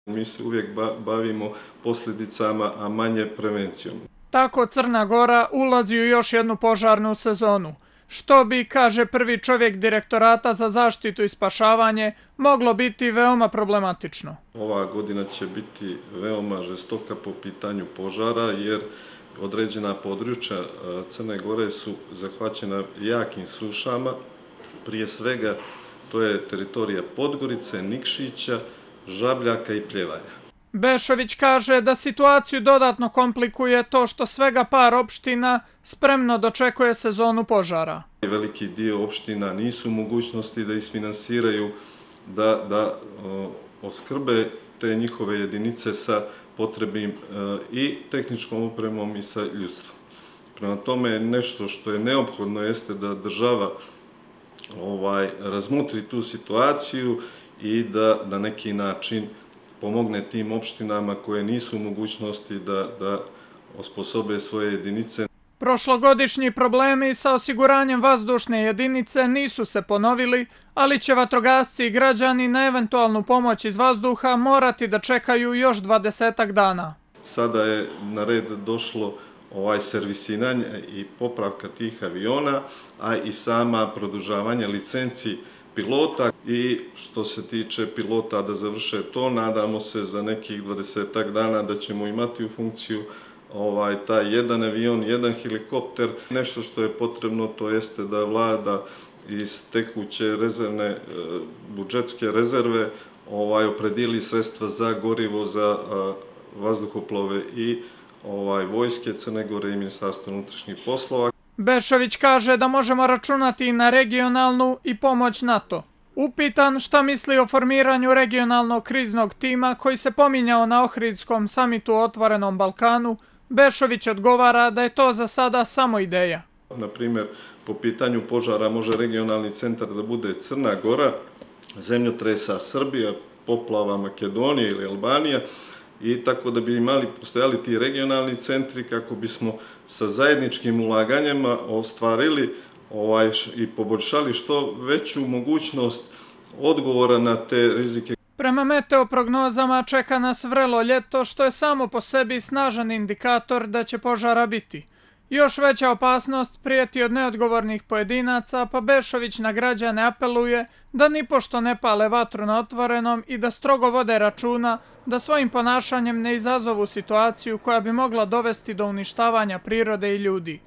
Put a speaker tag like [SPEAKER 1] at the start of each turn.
[SPEAKER 1] Mi se uvijek bavimo posljedicama, a manje prevencijom.
[SPEAKER 2] Tako Crna Gora ulazi u još jednu požarnu sezonu, što bi, kaže prvi čovjek Direktorata za zaštitu i spašavanje, moglo biti veoma problematično.
[SPEAKER 1] Ova godina će biti veoma žestoka po pitanju požara, jer određena područja Crne Gore su zahvaćena jakim sušama. Prije svega to je teritorija Podgorice, Nikšića, Žabljaka i Pljevalja.
[SPEAKER 2] Bešović kaže da situaciju dodatno komplikuje to što svega par opština spremno dočekuje sezonu požara.
[SPEAKER 1] Veliki dio opština nisu u mogućnosti da isfinansiraju, da oskrbe te njihove jedinice sa potrebnim i tehničkom opremom i sa ljudstvom. Prema tome, nešto što je neophodno jeste da država razmotri tu situaciju i da na neki način pomogne tim opštinama koje nisu u mogućnosti da osposobe svoje jedinice.
[SPEAKER 2] Prošlogodišnji problemi sa osiguranjem vazdušne jedinice nisu se ponovili, ali će vatrogasci i građani na eventualnu pomoć iz vazduha morati da čekaju još 20 dana.
[SPEAKER 1] Sada je na red došlo servisiranje i popravka tih aviona, a i sama produžavanje licenci pilota. I što se tiče pilota da završe to, nadamo se za nekih 20 dana da ćemo imati u funkciju taj jedan avion, jedan helikopter. Nešto što je potrebno to jeste da vlada iz tekuće rezervne, budžetske rezerve opredijeli sredstva za gorivo za vazduhoplove i vojske Crne Gore i Ministarstva unutrašnjih poslova.
[SPEAKER 2] Bešović kaže da možemo računati na regionalnu i pomoć NATO. Upitan šta misli o formiranju regionalnog kriznog tima koji se pominjao na Ohridskom samitu o otvorenom Balkanu, Bešović odgovara da je to za sada samo ideja.
[SPEAKER 1] Na primjer, po pitanju požara može regionalni centar da bude Crna Gora, zemljotresa Srbija, poplava Makedonija ili Albanija, i tako da bi postojali ti regionalni centri kako bismo sa zajedničkim ulaganjima ostvarili i poboljšali što veću mogućnost odgovora na te rizike.
[SPEAKER 2] Prema meteoprognozama čeka nas vrelo ljeto, što je samo po sebi snažan indikator da će požara biti. Još veća opasnost prijeti od neodgovornih pojedinaca, pa Bešović na građane apeluje da nipošto ne pale vatru na otvorenom i da strogo vode računa da svojim ponašanjem ne izazovu situaciju koja bi mogla dovesti do uništavanja prirode i ljudi.